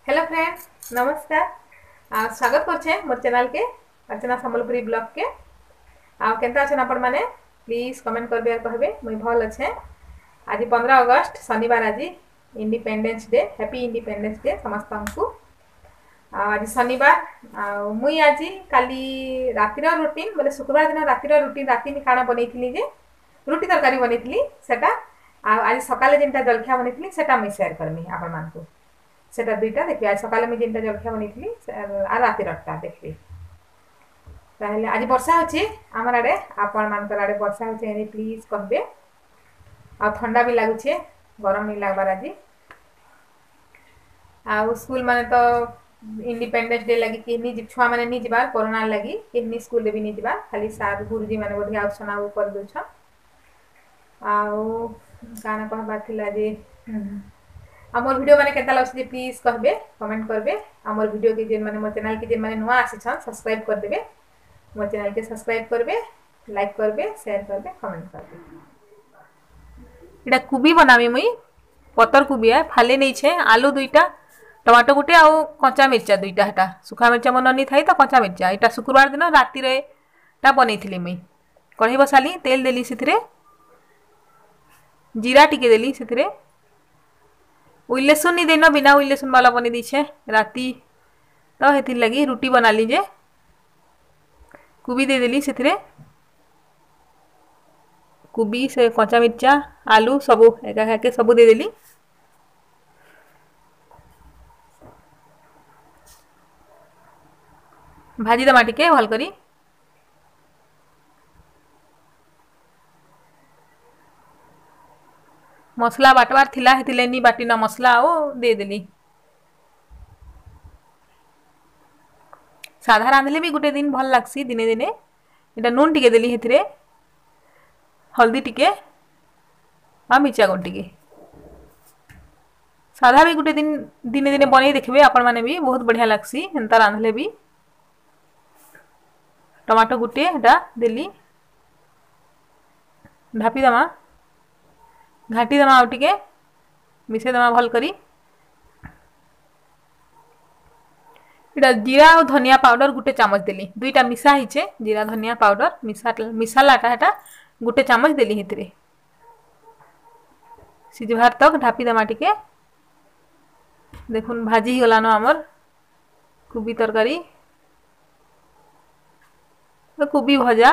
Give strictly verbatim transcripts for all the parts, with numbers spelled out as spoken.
Hello friends, नमस्कार। आ स्वागत करछे मोर चैनल के अर्चना संबलपुरी ब्लॉग के। आ केनता अछन आपण माने प्लीज कमेंट करबे और कहबे मुई भल अछे। आज पंद्रह अगस्त शनिवार, आज independence day. Happy independence day समस्त को। आज शनिवार आ मुई आज काली रातिर रूटीन बोले शुक्रवार दिन रातिर रूटीन राति में खाना बनैथिली जे रुटी तरकारी बनैथिली सेटा। आ आज सकाले जेनटा जलखिया बनैथिली सेटा मुई शेयर करमी आपण मानकु। सेटा दुईटा देखिए आज सकाले मुई जेनटा जलखिया बनैथिली आ रातिरटा देखबे। ताहले आज वर्षा होची हमर आड़े, आपण मानकर आड़े वर्षा होचे एनी प्लीज कहबे। आ ठंडा भी लागुछे, गरम नहीं लागबार आज। आ स्कूल माने तो इंडिपेंडेंस डे लगी कि नी छुआ माने नी जिबार कोरोना लगी कि नी स्कूल भी नी जिबार, खाली सार गुरुजी माने बोधे आउसन आउ कर दउछ। आउ काना कहबार थिला जे आ मोर वीडियो माने केता लागछ प्लीज कहबे, कमेंट करबे। आ मोर वीडियो के जेन माने मोर चैनल के जेन माने नवा आसी छन सब्सक्राइब कर देबे, मोर चैनल के सब्सक्राइब करबे, लाइक करबे, शेयर करबे, कमेंट करबे। एटा कुबी बनाबी मुई, पतर कुबी है फाले नै छे, आलू दुईटा, टमाटो गोटे आउ कच्चा मिर्चा दुईटा, हेटा सुखा मिर्चा मन नी थाई तो कच्चा मिर्चा। एटा शुक्रवार दिन राति रे टा बनैथिली मुई। कढ़ाई बसाली, तेल देली, सेथिरे जीरा टिके देली, सेथिरे उइलेसुन नी देना, बिना उइलेसुन वाला बनी दीछे राति तो हेथिर लगी रुटी बना लीजे। कुबी दे देली सेथिरे, कुबी से कच्चा मिर्चा आलू सबु एका एका सबु दे देली। भाजी दमा टिके भल करी। मसला बाटवार थिला हेतिले नी बाटी ना मसला आओ दे देली। साधा रांधले भी गोटे दिन भल लागसी दिने दिने। एटा नुन टिके देली हेथिरे, हल्दी टिके आ मिर्चा गुंड टिके। साधा भी गोटे दिन दिने दिने बनै देखबे आपण माने भी बहुत बढ़िया लागसी हेंता रांधले भी। टमाटो गुटे एटा देली, ढापी दमा, घाटी दमा आउ टिके मिसे दमा भल करी। एटा जीरा और धनिया पाउडर गुटे चामच देली, दुईटा मिसा हिचे जीरा धनिया पाउडर मिसा मिसालाटा हेटा गुटे चामच देली हेतरे। सिझबार तक ढापी दमा टिके। देखुन भाजी गलानो आमर कुबी तरकारी, कुबी भजा।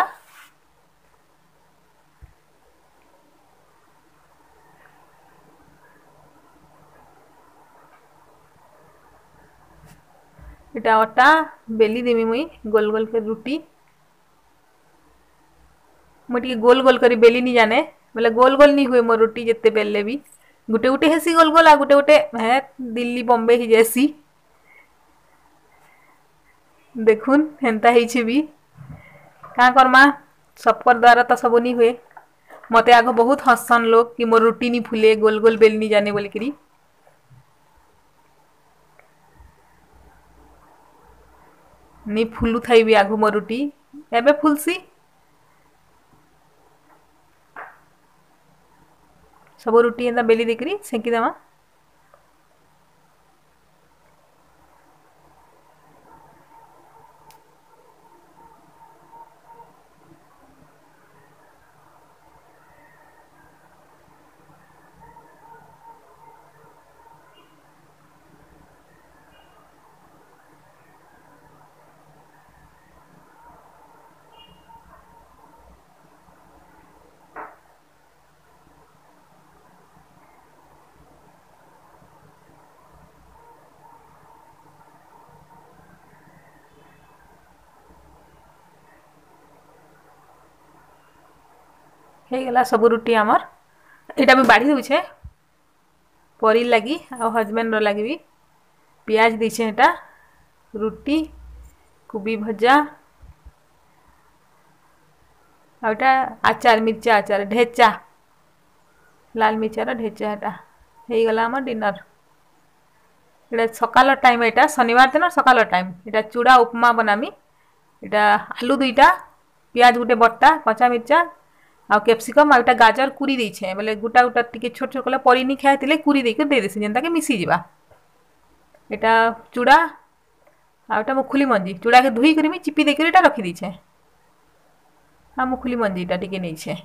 एटा अटा बेली देमी मुई गोल गोल कर रुटी। मुई टिके गोल गोल करी बेली नी जाने, बोले गोल गोल नी हुए मोर रुटी जिते बेलले भी गुटे गुटे हेसी गोल गोल आ गुटे गुटे है दिल्ली बॉम्बे ही जैसी। देखुन हेंता हेइछे भी का करमा, सबकर द्वारा तो सब नी हुए। मते आगो बहुत हसन लोग कि मोर रुटी नी फूले गोल गोल बेल नी जाने बोली करी। नी फुलु थाई भी आगो मोर रुटी एबे फुलसी। सब रुटी एंदा बेली देकरी सेकी दमा। ହେଇଗଲା ସବୁ ରୁଟି ଆମର। ଏଇଟା ମୁଇଁ ବାଢ଼ି ଦେଉଛେ ପରି ଲାଗି ଆଉ ହଜବେଣ୍ଡର ଲାଗି ବି। ପିଆଜ ଦେଇଛେ ଏଟା, ରୁଟି କୁବି ଭଜା ଆଉ ଏଟା ଆଚାର, ମିର୍ଚା ଆଚାର ଢେଚା, ଲାଲ ମିର୍ଚାର ଢେଚା। ଏଟା ହେଇଗଲା ଆମର ଡିନର। ଏଟା ସକାଳ ଟାଇମ୍, ଏଟା ଶନିବାର ଦିନ ସକାଳ ଟାଇମ୍। ଏଟା ଚୁଡ଼ା ଉପମା ବନାମି। ଏଟା ଆଲୁ ଦୁଇଟା, ପିଆଜ ଗୋଟେ ବଟା, କଞ୍ଚା ମିର୍ଚା ଆଉ କ୍ୟାପ୍ସିକମ୍ ଆଉ ଏଟା ଗାଜର କୁରି ଦେଇଛେ, ବୋଲେ ଗୁଟା ଗୁଟା ଟିକେ ଛୋଟ ଛୋଟ କଲେ ପରି ନି ଖାଇଥିଲେ କୁରି ଦେଇକି ଦେଇ ଦେସି ଯେନ୍ତାକି ମିଶିଯିବା। ଏଟା ଚୁଡ଼ା ଆଉ ଏଟା ମୁଖୁଲି ମଞ୍ଜି। ଚୁଡ଼ାକେ ଧୁଇ କରି ମୁଇଁ ଚିପି ଦେଇକରି ଏଟା ରଖିଦେଇଛେ। ଆଉ ମୁଖୁଲି ମଞ୍ଜିଟା ଟିକେ ନେଇଛେ।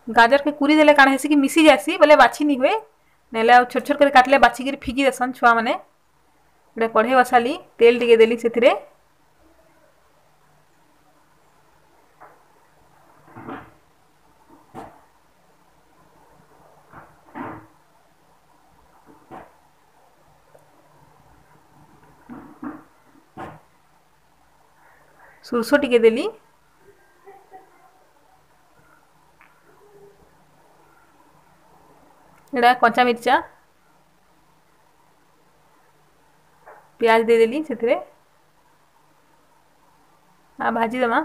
ଗାଜରକେ କୁରି ଦେଲେ କାଣା ହେସି କି ମିଶି ଯାଏସି ବୋଲେ ବାଛି ନି ହୁଏ, ନେଲେ ଆଉ ଛୋଟ ଛୋଟ କରି କାଟିଲେ ବାଛିକିରି ଫିକି ଦେସନ୍ ଛୁଆମାନେ। ଏଟା କଢ଼େଇ ବସାଲି, ତେଲ ଟିକେ ଦେଲି ସେଥିରେ। ସୋରିଷ ଟିକେ ଦେଲି। ଏଟା କଞ୍ଚା ମିର୍ଚା, ପିଆଜ ଦେଇଦେଲି ସେଥିରେ, ଆଉ ଭାଜିଦେମା।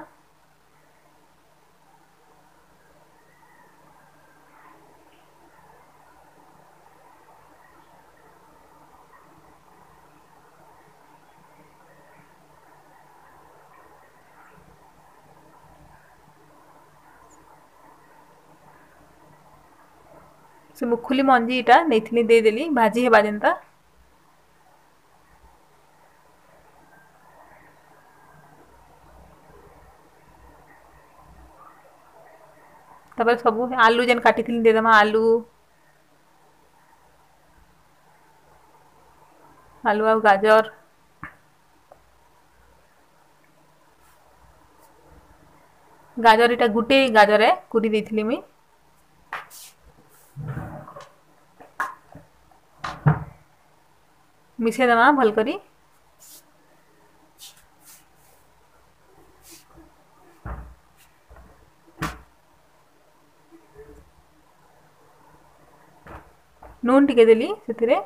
ସେ ମୁଖୁଲି ମଞ୍ଜିଟା ନେଇଥିଲି ଦେଇଦେଲି ଭାଜି ହେବା ଯେନ୍ତା। ତାପରେ ସବୁ ଆଲୁ ଯେନ୍ କାଟିଥିଲି ଦେଇଦେମା, ଆଲୁ ଆଲୁ ଆଉ ଗାଜର। ଗାଜର ଏଟା ଗୁଟେ ଗାଜରେ କୁରି ଦେଇଥିଲି ମୁଇଁ। ମିଶେଇ ଦେମା ଭଲ କରି। ନୁନ୍ ଟିକେ ଦେଲି ସେଥିରେ।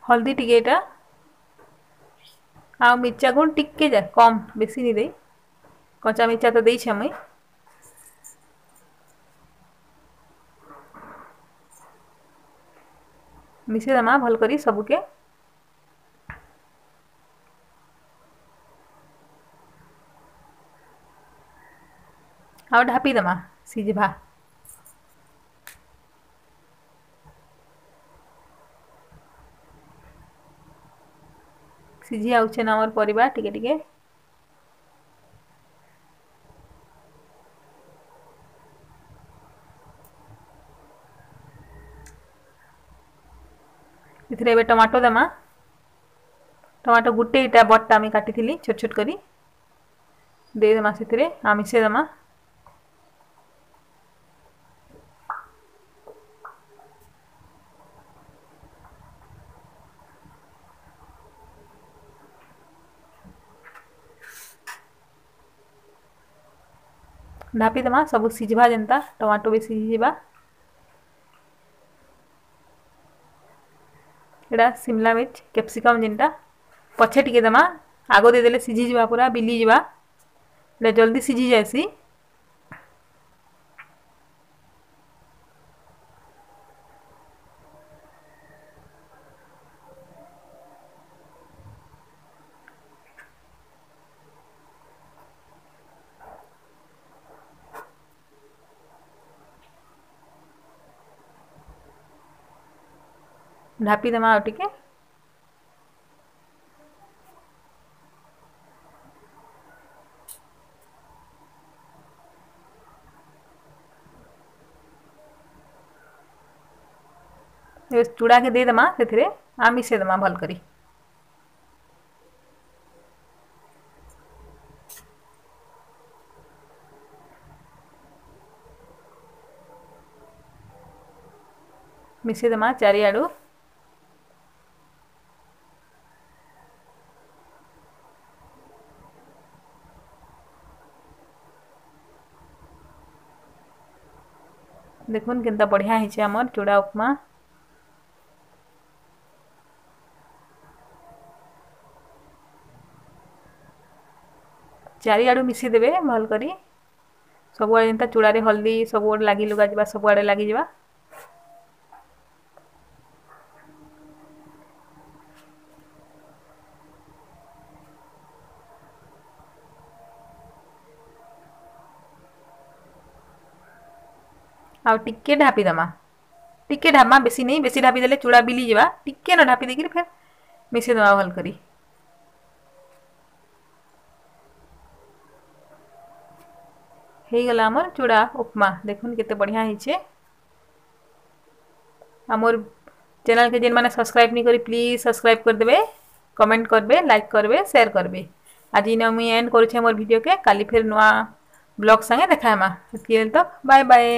ହଳଦୀ ଟିକେ ଏଟା ଆଉ ମିର୍ଚା ଗୁଣ୍ଡ ଟିକେ ଯା କମ୍, ବେଶୀ ନି ଦେଇ, କଞ୍ଚା ମିର୍ଚା ତ ଦେଇଛେ ମୁଇଁ। ମିଶେଇ ଦେମା ଭଲ କରି ସବୁକେ। ଆଉ ଢାପି ଦେମା ସିଝବା। ସିଝି ଆଉଛେ ନା ଆମର ପରିବା ଟିକେ ଟିକେ। ଏଥିରେ ଏବେ ଟମାଟୋ ଦେମା। ଟମାଟୋ ଗୁଟେ ଇଟା ବଡ଼ଟା ଆମେ କାଟିଥିଲି ଛୋଟ ଛୋଟ କରି, ଦେଇଦେମା ସେଥିରେ ଆଉ ମିଶେଇଦେମା। ଢାପିଦେମା ସବୁ ସିଝବା ଯେନ୍ତା, ଟମାଟୋ ବି ସିଝିଯିବା। ଏଟା ସିମଲା ମିର୍ଚ କ୍ୟାପ୍ସିକମ୍ ଯେନ୍ଟା ପଛେ ଟିକେ ଦେମା, ଆଗ ଦେଇଦେଲେ ସିଝିଯିବା ପୁରା ବିଲିଯିବା, ଏଟା ଜଲ୍ଦି ସିଝି ଯାଏସି। ଢାପିଦେମା ଆଉ ଟିକେ। ଏବେ ଚୁଡ଼ାକେ ଦେଇଦେମା ସେଥିରେ ଆଉ ମିଶେଇଦେମା ଭଲ କରି। ମିଶେଇଦେମା ଚାରିଆଡ଼ୁ। ଦେଖୁନ୍ କେନ୍ତା ବଢ଼ିଆ ହେଇଛେ ଆମର୍ ଚୁଡ଼ା ଉପମା। ଚାରିଆଡ଼ୁ ମିଶେଇଦେବେ ଭଲ କରି, ସବୁଆଡ଼େ ଯେନ୍ତା ଚୁଡ଼ାରେ ହଳଦୀ ସବୁଆଡ଼େ ଲାଗି ଲୁଗା ଯିବା, ସବୁଆଡ଼େ ଲାଗିଯିବା। ଆଉ ଟିକେ ଢାପି ଦେମା, ଟିକେ ଢାପମା, ବେଶୀ ନେଇ, ବେଶୀ ଢାପି ଦେଲେ ଚୁଡ଼ା ବିଲି ଯିବା। ଟିକେ ନ ଢାପି ଦେଇକିରି ଫେର୍ ମିଶେଇ ଦେମା ଭଲ କରି। ହେଇଗଲା ଆମର ଚୁଡ଼ା ଉପମା। ଦେଖୁନ୍ କେତେ ବଢ଼ିଆ ହେଇଛେ। ଆମର ଚ୍ୟାନେଲ୍କେ ଯେନ୍ମାନେ ସବସ୍କ୍ରାଇବ୍ ନି କରି ପ୍ଲିଜ୍ ସବସ୍କ୍ରାଇବ୍ କରିଦେବେ, କମେଣ୍ଟ କରିବେ, ଲାଇକ୍ କରିବେ, ସେୟାର କରିବେ। ଆଜି ଇନ ମୁଇଁ ଏଣ୍ଡ କରୁଛେ ମୋର୍ ଭିଡ଼ିଓକେ। କାଲି ଫେର୍ ନୂଆ ବ୍ଲଗ୍ ସାଙ୍ଗେ ଦେଖା ହେମା। ହେତ୍କି ବେଲ୍ ତକ୍ ବାଏ ବାଏ।